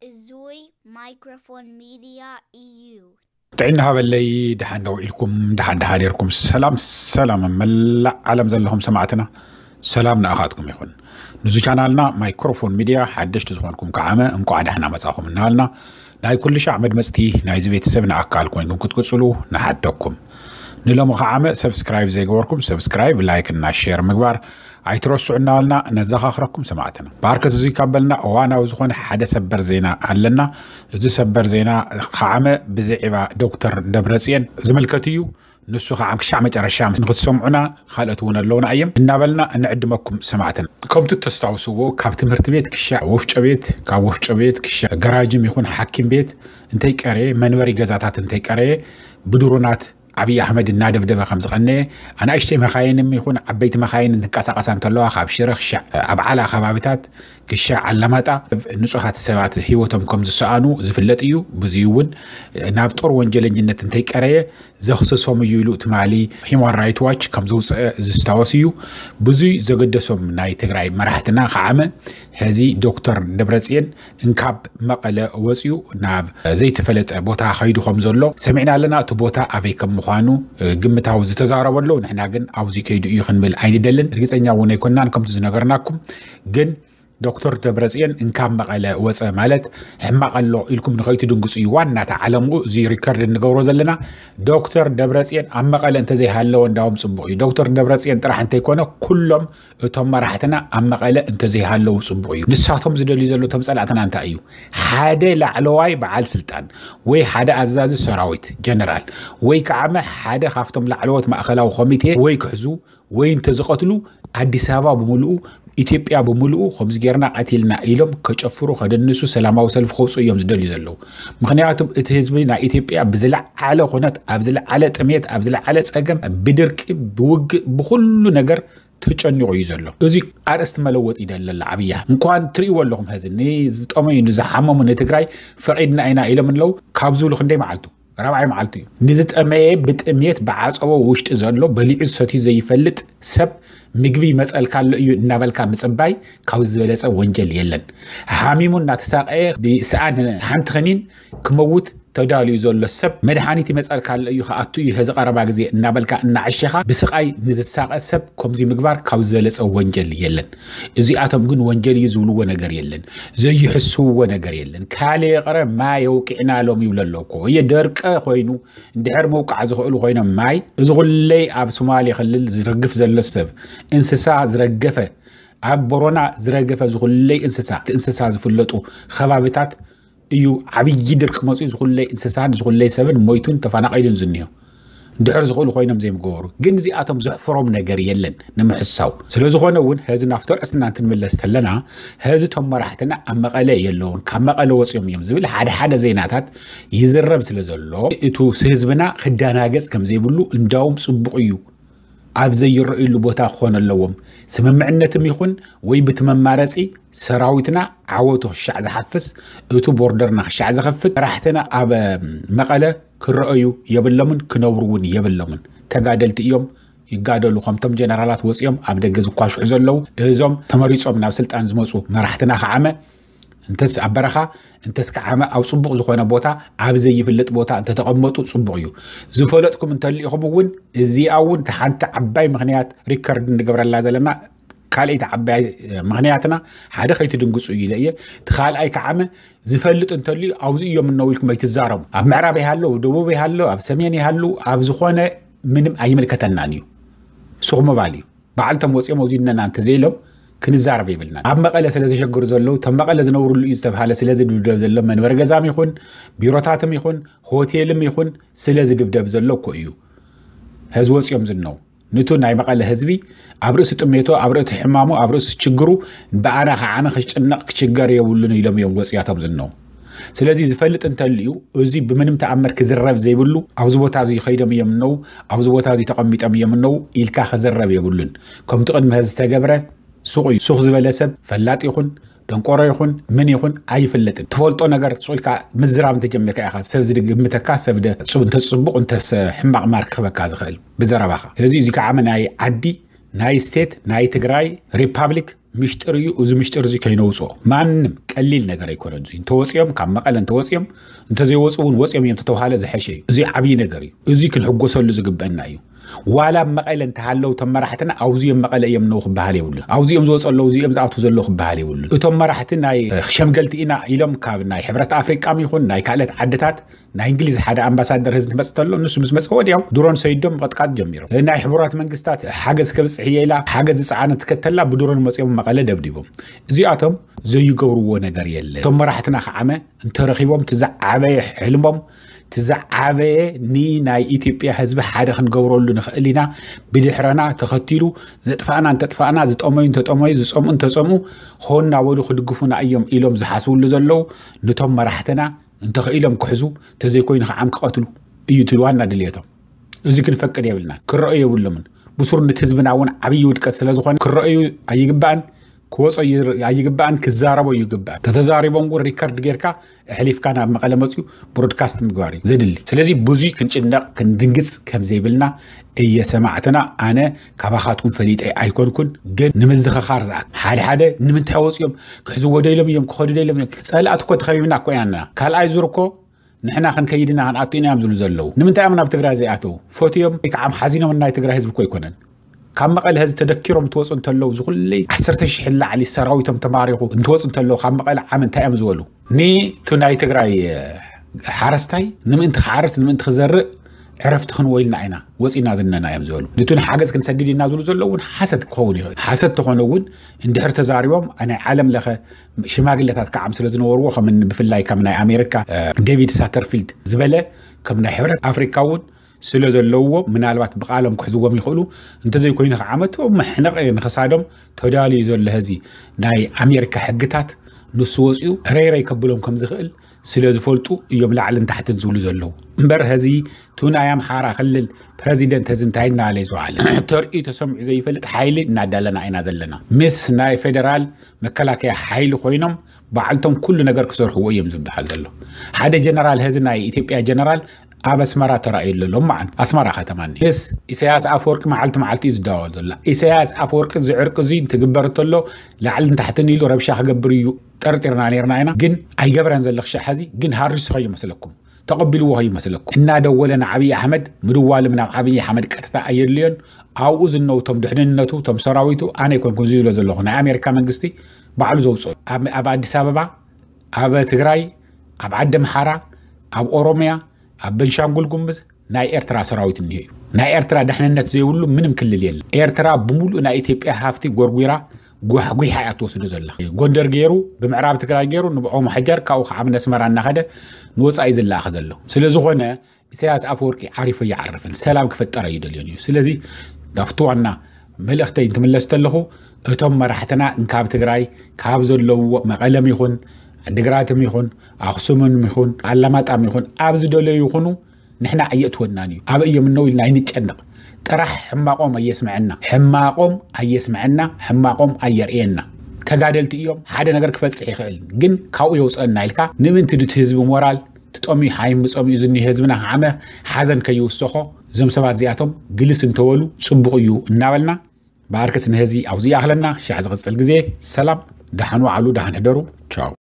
እዙይ ማይክሮፎን ሚድያ እዩ። ጥዕና ሃበለይ። ደሓን ዶ ውዒልኩም? ደሓን ደሓን ኔርኩም? ሰላም ሰላም፣ ኣብ መላእ ዓለም ዘለኹም ሰማዕትና፣ ሰላም ንኣኻትኩም ይኹን። ንዙ ቻናልና ማይክሮፎን ሚድያ ሓደሽቲ ዝኾንኩም ከዓመ እንቋዕ ደሕና መጻኹም እናበልና፣ ናይ ኩሉ ሻዕ መድመጽቲ ናይዚ ቤተሰብ ንኣካል ኮይንኩም ክትቅጽሉ ንሓተኩም። ንሎሚ ከዓመ ሰብስክራይብ ዘይገበርኩም ሰብስክራይብ፣ ላይክ እና ሼር ምግባር ኣይትረስዑ እናበልና ነዘኻኽረኩም ሰማዕትና። ባርከት እዙይ ካብ በልና እዋናዊ ዝኾነ ሓደ ሰበር ዜና ኣለና። እዚ ሰበር ዜና ከዓመ ብዛዕባ ዶክተር ደብረጽዮን ዝምልከት እዩ። ንሱ ከዓ ክሻዕ መጨረሻ ንክትሰምዑና፣ ካልኦት እውን ኣለውና እዮም እናበልና እንዕድመኩም ሰማዕትና። ከምቲ ተስታውስዎ፣ ካብ ትምህርቲ ቤት ክሻዕ ወፍጮ ቤት፣ ካብ ወፍጮ ቤት ክሻዕ ገራጅም ይኹን ሓኪም ቤት እንተይቀረየ፣ መንበሪ ገዛታት እንተይቀረየ፣ ብድሮናት ዓብዪ ኣሕመድ እናደብደበ ከም ዝቐነየ፣ ኣናእሽተይ መኻይንም ይኹን ዓበይቲ መኻይን እንትንቀሳቐሳ እንተለዋ፣ ካብ ሽረ ክሻዕ ኣብ ዓላ ከባቢታት ክሻዕ ኣላማጣ ንጹሃት ሰባት ህይወቶም ከም ዝሰኣኑ ዝፍለጥ እዩ። ብዙይ እውን ናብ ጦር ወንጀለኝነት እንተይቀረየ ዘኽስሶም እዩ ኢሉ ትማሊ ሂማን ራይት ዋች ከም ዘውፅአ ዝስታወስ እዩ። ብዙይ ዘገደሶም ናይ ትግራይ መራሕትና ከዓመ፣ ሕዚ ዶክተር ደብረጽዮን እንካብ መቐለ ወፅዩ ናብ ዘይተፈለጠ ቦታ ከይዱ ከም ዘሎ ሰሚዕና ኣለና። እቲ ቦታ ኣበይ ከም ምዃኑ ግምታዊ ዝተዛረበ ኣሎ። ንሕና ግን ኣብዚ ከይዱ እዩ ክንብል ኣይንደልን። ርግፀኛ እውን ኣይኮናን ከምቲ ዝነገርናኩም። ግን ዶክተር ደብረጽዮን እንካብ መቐለ ወፀ ማለት ሕማቕ ኣሎ ኢልኩም ንኸይትድንግፁ እዩ ዋና እቲ ዓለምኡ። እዚ ሪከርድ እንገብሮ ዘለና ዶክተር ደብረጽዮን ኣብ መቐለ እንተዘይሃለወ እንዳውም ፅቡቕ እዩ። ዶክተር ደብረጽዮን ጥራሕ እንተይኮነ ኩሎም እቶም መራሕትና ኣብ መቐለ እንተዘይሃለዉ ፅቡቕ እዩ። ንሳቶም ዝደልዩ ዘሎ እቶም ፀላእትና እንታይ እዩ? ሓደ ላዕለዋይ በዓል ስልጣን ወይ ሓደ ኣዛዚ ሰራዊት ጀነራል ወይ ከዓመ ሓደ ካብቶም ላዕለዎት ማእኸላዊ ኮሚቴ ወይ ክሕዙ ወይ እንተዝቐትሉ ኣዲስ ኣበባ ብምልኡ ኢትዮጵያ ብምልኡ ከምዚ ጌርና ቀቲልና ኢሎም ከጨፍሩ ከደንሱ ሰላማዊ ሰልፊ ከውፅኡ እዮም ዝደልዩ ዘለዉ። ምክንያቱም እቲ ህዝቢ ናይ ኢትዮጵያ ብዝለዓለ ኩነት ኣብ ዝለዓለ ጥሜት ኣብ ዝለዓለ ፀገም ብድርቂ ብውግእ ብኩሉ ነገር ተጨኒቑ እዩ ዘሎ። እዚ ኣርእስቲ መለወጢ እዩ ደለላ ዓብያ እንኳን ትርእይዎ ኣለኹም። ሀዚ ንዝጠመዩ ንዝሓመሙ ንትግራይ ፈቒድና ኢና ኢሎም ኣለዉ። ካብ ዝብሉ ክንደይ መዓልቱ ራብዓይ መዓልቲ እዩ። ንዝጠመየ ብጥሜት ብዓፀቦ ውሽጢ ዘሎ በሊዑ ዝሰትዩ ዘይፈልጥ ሰብ ምግቢ ይመፀልካ ኣሎ እዩ እናበልካ ምፅባይ ካብ ዝበለፀ ወንጀል የለን። ሓሚሙ እናተሳቀየ ብሰኣን ሓንቲ ክኒን ክመውት ተዳልዩ ዘሎ ሰብ መድሓኒት ይመፀልካ ኣሎ እዩ ክኣቱ እዩ ሕዚ ቀረባ ግዜ እናበልካ እናዓሸኻ ብስቃይ ንዝሳቀ ሰብ ከምዚ ምግባር ካብ ዝበለፀ ወንጀል የለን። እዚኣቶም ግን ወንጀል እዩ ዝብልዎ ነገር የለን። ዘይሕስውዎ ነገር የለን። ካልእ ይቕረ ማይ የውቂዕና ሎም ይብሉ ኣሎ እኮ እየ ደርቀ ኮይኑ እንድሕር መውቃዕ ዝኽእሉ ኮይኖም ማይ እዚ ኩለይ ኣብ ሶማሌ ክልል ዝረግፍ ዘሎ ሰብ እንስሳ ዝረገፈ ኣብ ቦሮና ዝረገፈ ዝኹለይ እንስሳ እቲ እንስሳ ዝፍለጡ ከባብታት እዩ። ዓብዪ ድርቂ መፅኡ ዝኹለይ እንስሳን ዝኹለይ ሰብን ሞይቱን ተፈናቒሉን ዝኒሆ እንድሕር ዝኽእሉ ኮይኖም ዘይምገበሩ ግን እዚኣቶም ዘሕፍሮም ነገር የለን ንምሕሳው። ስለዝኾነ እውን ሀዚ ናብቲ ርእስና እንትንምለስ ተለና ሀዚ እቶም መራሕትና ኣብ መቐለ የለውን ካብ መቐለ ወፂኦም እዮም ዝብል ሓደ ሓደ ዜናታት ይዝረብ ስለ ዘሎ እቱ ህዝብና ክዳናገፅ ከም ዘይብሉ እንዳውም ፅቡቕ እዩ። ኣብ ዘይረእዩሉ ቦታ ክኾን ኣለዎም። ስምምዕነትም ይኹን ወይ ብቲ መማረፂ ሰራዊትና ዓወቱ ክሻዕ ዝሓፍስ እቱ ቦርደርና ክሻዕ ዝኸፍት መራሕትና ኣብ መቐለ ክረአዩ የብሎምን ክነብሩ እውን የብሎምን። ተጋደልቲ እዮም ይጋደሉ ከምቶም ጀነራላት ወፂኦም ኣብ ደገ ዝኳሽሑ ዘለዉ እዞም ተመሪፆም ናብ ስልጣን ዝመፁ መራሕትና ከዓመ እንተስ ኣብ በረኻ እንተስ ከዓመ ኣብ ፅቡቕ ዝኾነ ቦታ ኣብ ዘይፍለጥ ቦታ እንተተቐመጡ ፅቡቕ እዩ። ዝፈለጥኩም እንተልኢኹም እውን እዚኣ እውን እቲ ሓንቲ ዓባይ ምኽንያት ሪከርድ እንገብረላ ዘለና ካልኣይቲ ዓባይ ምኽንያትና ሓደ ከይትድንግፁ እዩ ኢለ እየ። እቲ ካልኣይ ከዓመ ዝፈልጥ እንተልዩ ኣብዚ እዮም እነው ኢልኩም ኣይትዛረቡ። ኣብ ምዕራብ ይሃለው ደቡብ ይሃለው ኣብ ሰሜን ይሃሉ ኣብ ዝኾነ ምንም ኣይምልከተናን እዩ። ሱቕ ምባል እዩ። ባዕልቶም ወፂኦም ኣብዚ እነና እንተዘይሎም ክንዛረብ የብልናን። ኣብ መቐለ ስለ ዘሸግሩ ዘለዉ እቶም መቐለ ዝነብርሉ እዩ ዝተብሃለ ስለ ዝድብደብ ዘሎ መንበሪ ገዛም ይኹን ቢሮታትም ይኹን ሆቴልም ይኹን ስለ ዝድብደብ ዘሎ እኮ እዩ። ሕዚ ወፂኦም ዝነው ንቱ ናይ መቐለ ህዝቢ ኣብ ርእሲ ጥሜቶ ኣብ ርእሲ ሕማሙ ኣብ ርእሲ ችግሩ ብኣና ከዓመ ክጭነቕ ክችገር የብሉን ኢሎም እዮም ወፅያቶም ዝነው። ስለዚ ዝፈልጥ እንተልዩ እዚ ብምንም ተኣምር ክዝረብ ዘይብሉ ኣብዚ ቦታ እዚ ከይዶም እዮም እነው ኣብዚ ቦታ እዚ ተቐሚጦም እዮም እነው ኢልካ ክዝረብ የብሉን። ከምቲ ቅድሚ ሕዚ ዝተገብረ ሱቕ እዩ። ሱቕ ዝበለ ሰብ ፈላጥ ይኹን ደንቆሮ ይኹን ምን ይኹን ኣይፍለጥን። ትፈልጦ ነገር ሱቕ ኢልካ ምዝራብ እንተጀሚርካ ኢኻ ሰብ ዝግምተካ ሰብ እንተፅቡቕ እንተስ ሕማቕ ማርክ ክበካ ዝኽእል ብዘረባኻ። ስለዚ እዚ ከዓ ናይ ዓዲ ናይ ስቴት ናይ ትግራይ ሪፓብሊክ ምሽጥር እዩ። እዚ ምሽጥር እዚ ከይነውፅኦ ማንም ቀሊል ነገር ኣይኮነን። እዚ እንተወፂኦም ካብ መቐለ እንተወፂኦም እንተዘይወፁ እውን ወፂኦም እዮም ተተውሃለ ዝሐሸ እዩ። እዚ ዓብዪ ነገር እዩ። እዚ ክንሕጎሰሉ ዝግበአና እዩ። ዋላ ኣብ መቐለ እንተሃለው እቶም መራሕትና ኣውዚኦም መቐለ እዮም ነው ክበሃል የብሉን። ኣውዚኦም ዝወፁ ኣለዉ እዚኦም ዝኣትዉ ዘለዉ ክበሃል የብሉን። እቶም መራሕቲ ናይ ሸምገልቲ ኢና ኢሎም ካብ ናይ ሕብረት ኣፍሪቃም ይኹን ናይ ካልኦት ዓድታት ናይ እንግሊዝ ሓደ ኣምባሳደር ህዝቢ ትመፅእ ተሎ ንሱ ምስ መፀ ወዲያው ድሮን ሰይዶም ምቕጥቃጥ ጀሚሮም። ናይ ሕቡራት መንግስታት ሓገዝ ከብፅሕ እየ ኢላ ሓገዝ ዝፀዓነት ትከተላ ብድሮን መፂኦም መቐለ ደብዲቦም። እዚኣቶም ዘይገብርዎ ነገር የለ። እቶም መራሕትና ከዓመ እንተረኺቦም ትዝዓበየ ሕልሞም ትዝዓበየ ንናይ ኢትዮጵያ ህዝቢ ሓደ ክንገብረሉ ንኽእል ኢና። ብድሕረና ተኸቲሉ ዘጥፋእና እንተጥፋእና ዝጠመዩ እንተጠመዩ ዝፀምኡ እንተፀምኡ ሆን እናበሉ ክድግፉና እዮም ኢሎም ዝሓስብሉ ዘለዉ። ንቶም መራሕትና እንተኽኢሎም ክሕዙ ተዘይኮይኑ ከዓም ክቐትሉ እዩ ትልዋና ድልየቶም። እዚ ክንፈቅድ የብልናን። ክረአዩ የብሎምን። ብሱር ንቲ ህዝብና እውን ዓብዪ ውድቀት ስለ ዝኾነ ክረአዩ ኣይግባእን። ክወፀ ኣይግባእን። ክዛረቦ ይግባእ። ተተዛሪቦም እውን ሪከርድ ጌርካ ኣሕሊፍካ ናብ መቐለ መፅኡ ብሮድካስት ምግባር እዩ ዘድሊ። ስለዚ ብዙይ ክንጭነቕ ክንድንግፅ ከም ዘይብልና እየ ሰማዕትና። ኣነ ካባኻትኩም ፈሊጠ ኣይኮንኩን፣ ግን ንምዝኸኻር ዝኣ ሓደ ሓደ ንምንታይ ወፂኦም ክሕዝዎ ደሎም እዮም ክኸዱ ደሎም እዮም። ፀላእት እኮ ተኸቢብና እኮ ኢና ኣለና። ካልኣይ ዙር እኮ ንሕና ክንከይድና ክንኣቱ ኢና እዮም ዝብሉ ዘለዉ። ንምንታይ እዮም ናብ ትግራይ ዘይኣተዉ? ፈትዮም ወይ ከዓ ሓዚኖም ናይ ትግራይ ህዝቢ እኮ ኣይኮነን። ካብ መቐለ ህዝቢ ተደኪሮም ትወፁ እንተለዉ ዝኩለይ ዓሰርተ ሽሕ ላዕሊ ሰራዊቶም ተማሪኹ እንትወፁ እንተለዉ ካብ መቐለ ዓም እንታይ እዮም ዝበሉ? ንቱ ናይ ትግራይ ሓረስታይ ንምእንቲ ክሓርስ ንምእንቲ ክዘርእ ዕረፍቲ ክንወይልና ኢና ወፂና ዝነና እዮም ዝበሉ። ንቱ ንሓገዝ ክንሰድድ ኢና ዝብሉ ዘለዉ እውን ሓሰት ክኸውን ይኽእል። ሓሰት ተኾነ እውን እንድሕር ተዛሪቦም ናይ ዓለም ለኸ ሽማግለታት ከዓም ስለ ዝነበርዎ ከም ብፍላይ ከም ናይ ኣሜሪካ ዴቪድ ሳተርፊልድ ዝበለ ከም ናይ ሕብረት ኣፍሪካ እውን ስለ ዘለውዎ ምናልባት ብቃሎም ክሕዝዎም ይኽእሉ። እንተዘይኮይኑ ከዓመት መሕነቕ ንኸሳዶም ተዳልዩ ዘሎ ህዚ ናይ ኣሜሪካ ሕግታት ንሱ ወፅኡ ረይረይ ከብሎም ከም ዝኽእል ስለ ዝፈልጡ እዮም ላዕልን ታሕትን ዝብሉ ዘለዉ። እምበር ህዚ ቱ ናይ ኣምሓራ ክልል ፕረዚደንት ህዚ እንታይ እናለ ይዝዋዓለ ተርእዩ ተሰምዑ ዘይፈልጥ ሓይሊ እናዳለና ኢና ዘለና። ምስ ናይ ፌደራል መከላከያ ሓይሊ ኮይኖም ባዕልቶም ኩሉ ነገር ክሰርሕዎ እዮም ዝበሃል ዘሎ። ሓደ ጀነራል ህዚ ናይ ኢትዮጵያ ጀነራል ኣብ ኣስመራ ተራእዩ ኣሎ ሎም መዓልቲ ኣስመራ ከተማ እኒ ምስ ኢሳያስ ኣፈወርቂ መዓልቲ መዓልቲ እዩ ዝደዋወል ዘሎ። ኢሳያስ ኣፈወርቂ እዚ ዕርቂ እዚ እንትግበር እንተሎ ላዕልን ታሕትን ኢሉ ረብሻ ክገብር እዩ ጠርጢርና ነርና ኢና። ግን ኣይገብረን ዘለክ ሻሕ ሕዚ ግን ሃሪሱ ከይመስለኩም ተቐቢልዎ ከይመስለኩም እናደወለ ንዓብዪ ኣሕመድ ምድዋልም ናብ ዓብዪ ኣሕመድ ቀጥታ ኣየድልዮን። ኣብኡ ዝነውቶም ድሕንነቱ ቶም ሰራዊቱ ኣነ ይኮንኩን ዝብሎ ዘለኹ ናይ ኣሜሪካ መንግስቲ ባዕሉ ዘውፅኦ ኣብ ኣዲስ ኣበባ ኣብ ትግራይ ኣብ ዓዲ ኣምሓራ ኣብ ኦሮምያ ኣብ በንሻንጉል ጉምዝ ናይ ኤርትራ ሰራዊት እኒሀ እዩ። ናይ ኤርትራ ድሕንነት ዘይብሉ ምንም ክልል የለ። ኤርትራ ብምሉእ ናይ ኢትዮጵያ ሃፍቲ ጎርጒራ ጓሕጒሓ እያ ትወስዶ ዘላ። ጎንደር ገይሩ ብምዕራብ ትግራይ ገይሩ ንብዖ ምሕጃር ካብኡ ከዓ ነስመራ እናኸደ ንወፃኢ ዝለኣኸ ዘሎ ስለ ዝኾነ ኢሳያስ ኣፈወርቂ ዓሪፎ ይዓርፍን ሰላም ክፈጠር ኣይደልዮን እዩ። ስለዚ ናብቲ ዋና መልእኽተይ እንትምለስ ተለኹ እቶም መራሕትና ካብ ትግራይ ካብ ዘለውዎ መቐለም ይኹን ዓዲግራትም ይኹን ኣኽሱምም ይኹን ኣላማጣም ይኹን ኣብ ዝደለዩ ይኹኑ ንሕና ኣየእትወናን እዩ። ኣበይ እዮም እነው ኢልና ኣይንጨነቕ። ጥራሕ ሕማቖም ኣየስምዐና፣ ሕማቖም ኣየስምዐና፣ ሕማቖም ኣየርእየና። ተጋደልቲ እዮም። ሓደ ነገር ክፈፅሕ ይኽእል ግን ካብኡ የውፅአና ኢልካ ንምንቲ ድቲ ህዝቢ ሞራል ትጠምዩ ሓይም ብፀምኡ ዝኒ ህዝብና ከዓመ ሓዘን ከይውሰኾ እዞም ሰባት እዚኣቶም ግልስ እንተበሉ ፅቡቕ እዩ እናበልና ብኣርከስ ንህዚ ኣብዚ ይኣኽለና። ሻዕ ዝቕፅል ግዜ ሰላም፣ ደሓን ዋዕሉ፣ ደሓን ሕደሩ። ቻው።